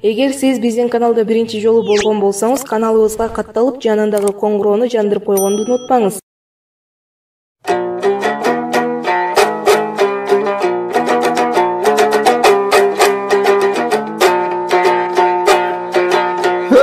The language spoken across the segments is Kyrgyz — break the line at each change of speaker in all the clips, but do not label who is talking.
Эгер сиз биздин каналда биринчи жолу болгон болсоңуз, каналыбызга катталып, жанындагы коңгуроону жандырып койгонду унутпаңыз.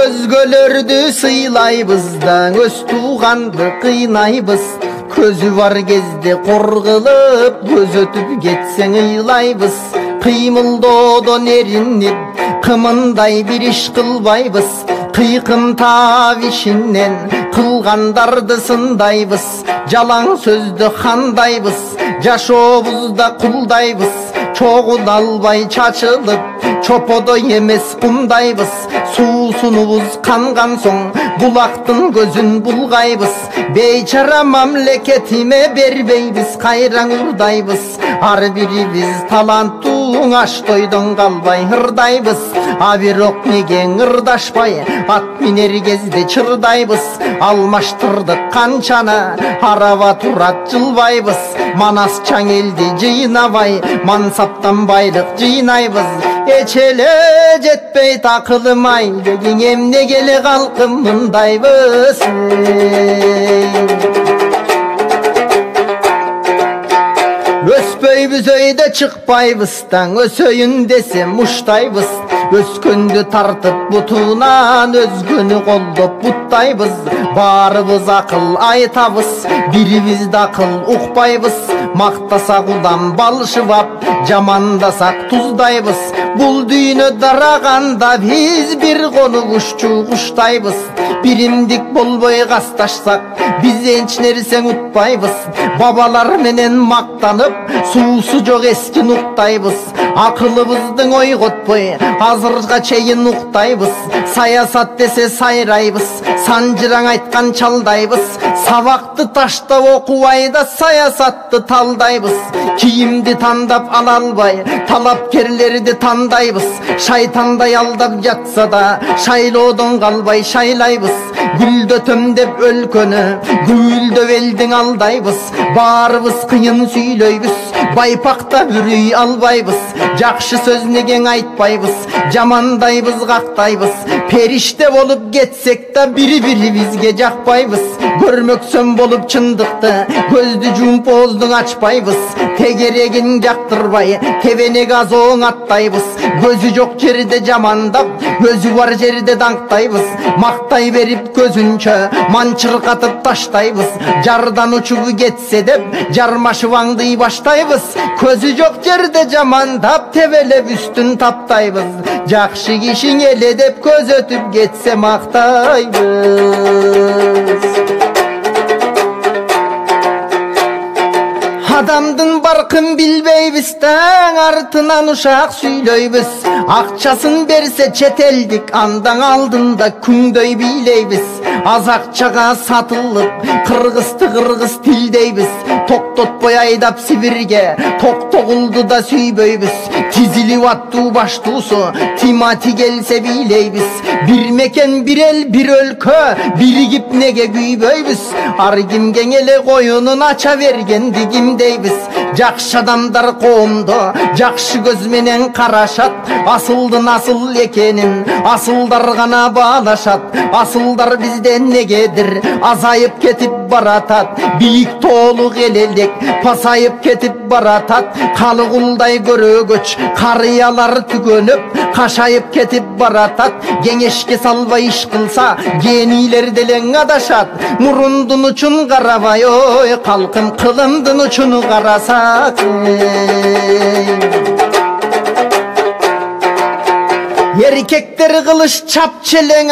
Өзгөлөрдү сыйлайбыз да, өз тууганды кыйнайбыз. Көзү бар кезде кор кылып, көз өтүп кетсең ыйлайбыз. Кыймылдоодон эринип, кымындай бир иш кылбайбыз. Кыйкым таап ишинен кылгандарды сындайбыз. Жалаң сөздү кандайбыз, жашообузда кулдайбыз. Чогун албай чачылып, чоподой эмес кумдайбыз. Суусунубуз канган соң булактын көзүн булгайбыз. Бейчара мамлекетиме бербейбиз, кайраң урдайбыз. Ар бирибиз таланттуу, аш тойдон калбай ырдайбыз. А бирок неге ырдашпай, ат минер кезде чырдайбыз. Алмаштырдык канчаны, араба турат жылбайбыз. Манас чаң элди жыйнабай, мансаптан байлык жыйнайбыз. Эч эле жетпей такылмай, дегиң эмнеге эле калкым мындайбыз. Өспөйбүз өйдө чыкпайбыз, таң өсөйүн десем уштайбыз. Өскөндү тартып бутунан, өзгөнү колдоп буттайбыз. Баарыбыз акыл айтабыз, бирибизди акыл укпайбыз. Мактасак удан балшыбап, жамандасак туздайбыз. Бул дүйнө дараганда биз бир кону кушчу куштайбыз. Биримдик болбой касташсак, биз энч нерсең утпайбыз. Бабалар менен мактанып, суусу жок эски нуктайбыз. Акылыбыздың ойготпой, азырга чейин уктайбыз. Саясат десе сайрайбыз, санжыраң айткан чалдайбыз. Сабакты таштап окубай да саясатты талдайбыз. Кийимди тандап ала албай, талапкерлерди тандайбыз. Шайтандай алдап жатса да, шайлоодон калбай шайлайбыз. Гүлдөтөм деп өлкөнү, гүлдөп элдиң алдайбыз. Баарыбыз кыйын сүйлөйбүз, байпакта бүрүй албайбыз. Жакшы сөз негең айтпайбыз, жамандайбыз, кактайбыз. Периште болуп кетсек да бири-бирибизге жакпайбыз. Көрмөксөм болуп чындыкты, көздү жумуп ооздун ачпайбыз. Тегерегин жактырбай, тебенек азооң аттайбыз. Көзү жок жерде жамандап, өзү бар жерде даңктайбыз. Мактай берип көзүнчө манчыркатып таштайбыз. Жардан учуп кетсе деп жармашып аңдый баштайбыз. Көзү жок жерде жамандап, тебелеп үстүн таптайбыз. Жакшы кишиң эле деп көз өтүп кетсе мактайбыз. Адамдын баркын билбейбиз, таң артынан ушак сүйлөйбүз. Акчасын берсе чет элдик, андан алдында күңдөй бийлейбиз. Аз акчага сатылып, кыргызды кыргыз тилдейбиз. Токтотпой айдап Сибирге, токтогулду да сүйбөйбүз. Тизилип аттуу баштуусу, Тимати келсе бийлейбиз. Бир мекен, бир эл, бир өлкө, биригип неге күйбөйбүз. Ар кимге эле коюнун ача бергенди кимдейбиз. Жакшы адамдар коомду жакшы көз менен карашат. Асылдын асыл экенин асылдар гана баалашат. Асылдар бизден негедир азайып кетип баратат. Бийик тоолук элелек пасайып кетип баратат. Калыгулдай көрөгөч карыялар түгөнүп кашайып кетип баратат. Кеңешке салбай иш кылса генийлер делең адашат. Мурундун учун карабай, ой калкым кылымдын учуну карасак. Эркектер кылыш чапчелең,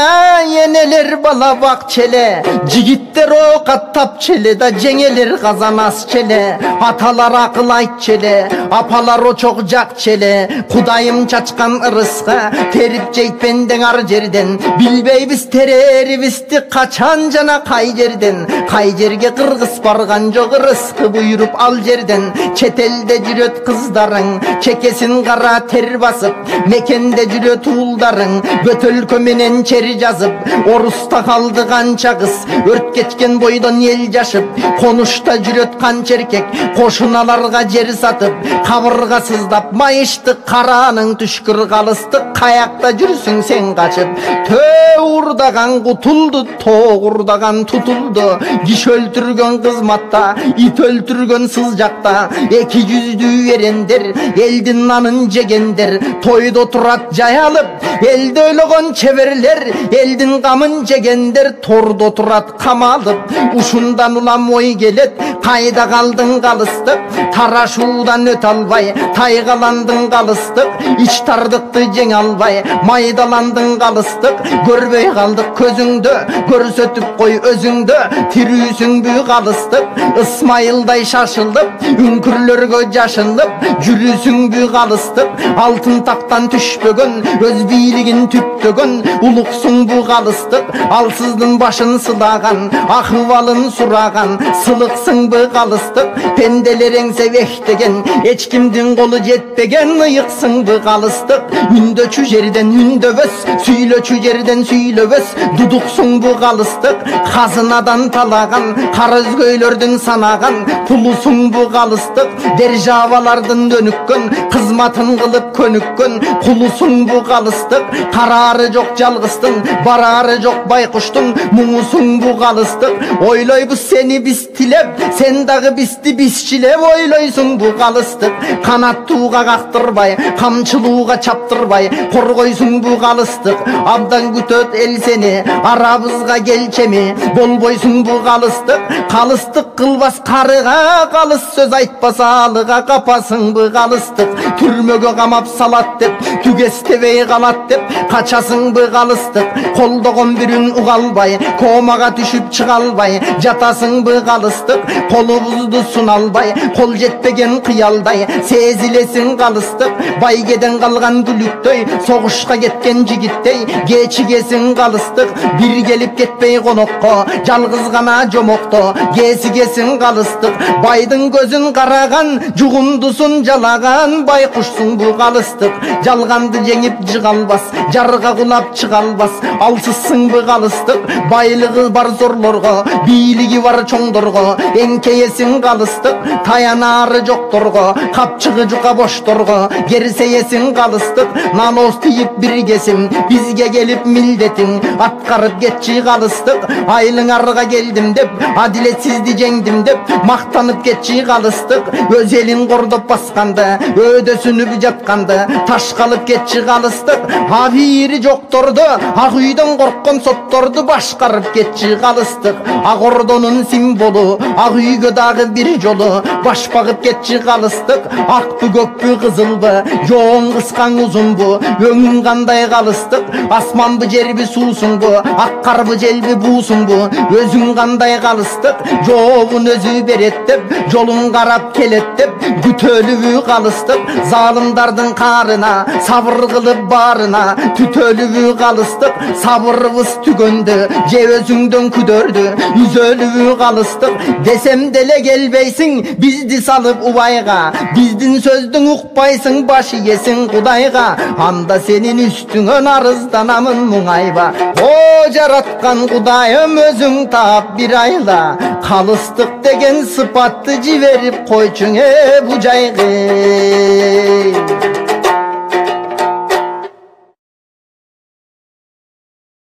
энелер бала бакчеле. Жигиттер ок аттап челе да, жеңелер казан ас челе. Аталар акыл айт челе, апалар очок жак челе. Кудайым чачкан ырыска терип жейт бендең ар жерден. Билбейбиз терерибизди качан жана кай жерден. Кай жерге кыргыз барган жок, ырыскы буйруп ал жерден. Чет элде жүрөт кыздарың, чекесин кара тер басып. Мекенде жүрөт уулдарың бөтөлкө менен чери жазып, оруста калды канча кыз, өрт кечкен бойдон эл жашып, конушта жүрөт канча эркек, кошуналарга жер сатып, кабырга сыздап майыштык караның түшкүр калыстык, каякта жүрсүң сен качып. Төө урдаган кутулду, тоогурдаган тутулду, киши өлтүргөн кызматта, ит өлтүргөн сызжакта, эки жүздүү эрендер, элдин нанын жегендер, тойдо турат жаялып, элди ойлогон чеберлер, элдин камын жегендер, тордо турат камалып. Ушундан улам ой келет, кайда калдың калыстык, тарашуудан өтө албай, тайгаландың калыстык, ич тардыкты жеңе албай, майдаландың калыстык, көрбөй калдык көзүңдө, көрсөтүп кой өзүңдө, тирүүсүңбү калыстык, Ысмайылдай шашылып, үңкүрлөргө жашынып, жүрүсүңбү калыстык, алтын тактан түшпөгөн, өз бийлигин түптөгөн, улуксуңбу калыстык, алсыздын башын сылаган, акыбалын сураган, сылыксыңбы калыстык, пенделер эңсе бектеген, эч кимдин колу жетпеген, ыйыксыңбы калыстык, үндөчү жерден үндөбөс, сүйлөчү жерден сүйлөбөс, дудуксуңбу калыстык, казынадан талаган, кара өзгөйлөрдүн санаган, пулусуңбу калыстык, державалардын дөнүккөн, кызматын кылып көнүккөн, кулусуңбу калыстык, караары жок жалгыздын, бараары жок байкуштун, муңусуңбу калыстык, ойлойбуз сени биз тилеп, сен дагы бизди бизчилеп ойлойсуңбу калыстык, канаттууга кактырбай, камчылууга чаптырбай, коргойсуңбу калыстык, абдан күтөт эл сени, арабызга келчеми, болбойсуңбу калыстык, калыстык кылбас карыга, калыс сөз айтпаса алыга, капасыңбы калыстык, түрмөгө камап салат деп, түгестебей калат деп, качасыңбы калыстык, колдогон бирин уга албай, комага түшүп чыга албай, жатасыңбы калыстык, колубузду суна албай, кол жетпеген кыялдай, сезилесиң калыстык, байгеден калган бүлүктөй, согушка кеткен жигиттей, кечигесиң калыстык, бир келип кетпей конокко, жалгыз гана жомокто, кесигесиң калыстык, байдын көзүн караган, жугундусун жалаган, байкушсуңбу калыстык, жалганды жеңип жыга албас, жарга кулап чыга албас, алсызсыңбы калыстык, байлыгы бар зорлорго, бийлиги бар чоңдорго, эңкейесиң калыстык, таянары жокторго, капчыгы жука бошторго, керсейесиң калыстык, наноз тийип бир кесим, бизге келип милдетиң, аткарып кетчи калыстык, айлыңарга келдим деп, адилетсизди жеңдим деп, мактанып кетчи калыстык, өз элин кордоп басканды, өйдөсүнүп жатканды, ташкалып кетчи калыстык, абийири жокторду, ак үйдөн корккон сотторду башкарып кетчи калыстык, ак ордонун символу, ак үйгө дагы бир жолу баш багып кетчи калыстык, акпы көкпү кызылбы, жоон кыскаң узунбу, өңүң кандай калыстык, асманбы жерби суусуңбу, ак карбы желби буусуңбу, өзүң кандай калыстык, жообун өзү берет деп, жолун карап келет деп, күтөлүбү калыстык, залымдардын каарына, сабыр кылып баарына, түтөлүбү калыстык, сабырыбыз түгөндү, же өзүңдөн күдөрдү, үзөлүбү калыстык, десем деле келбейсиң, бизди салып убайга, биздин сөздүн укпайсың, баш ийесиң Кудайга, анда сенин үстүңөн арызданамын муңайба, о жараткан Кудайым өзүң таап бир айла, калыстык деген сыпатты жиберип койчуң бу жайга.